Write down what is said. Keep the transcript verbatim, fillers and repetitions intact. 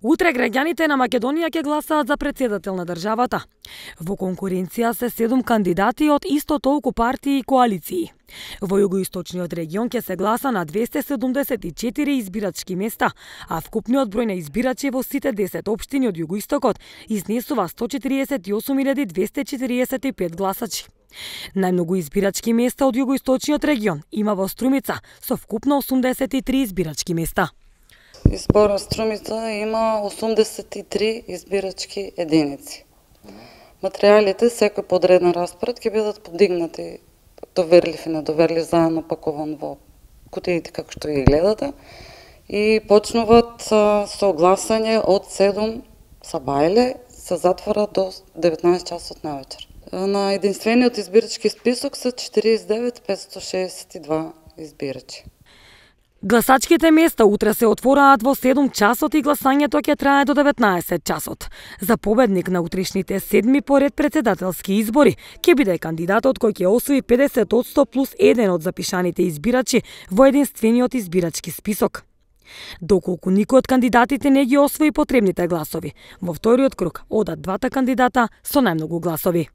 Утре граѓаните на Македонија ќе гласаат за претседател на државата. Во конкуренција се седум кандидати од исто толку партии и коалиции. Во југоисточниот регион ќе се гласа на двесте седумдесет и четири избирачки места, а вкупниот број на избирачи во сите десет општини од југоистокот изнесува сто четиридесет и осум илјади двесте четиридесет и пет гласачи. Најмногу избирачки места од југоисточниот регион има во Струмица со вкупно осумдесет и три избирачки места. Изборот Струмица има осумдесет и три избирачки единици. Материјалите секој подреден распоред ќе бидат подигнати доверлив и недоверлив заедно пакуван во кутиите како што ги гледате и почнуваат со гласање од седум сабајле, се затвора до деветнаесет часот навечер. На единствениот избирачки список се четириесет и девет петстотини шеесет и два избирачи. Гласачките места утре се отвораат во седум часот и гласањето ќе трае до деветнаесет часот. За победник на утрешните седми поред претседателски избори ќе биде кандидатот кој ќе освои педесет одсто плюс еден од запишаните избирачи во единствениот избирачки список. Доколку никој од кандидатите не ги освои потребните гласови, во вториот круг одат двата кандидата со најмногу гласови.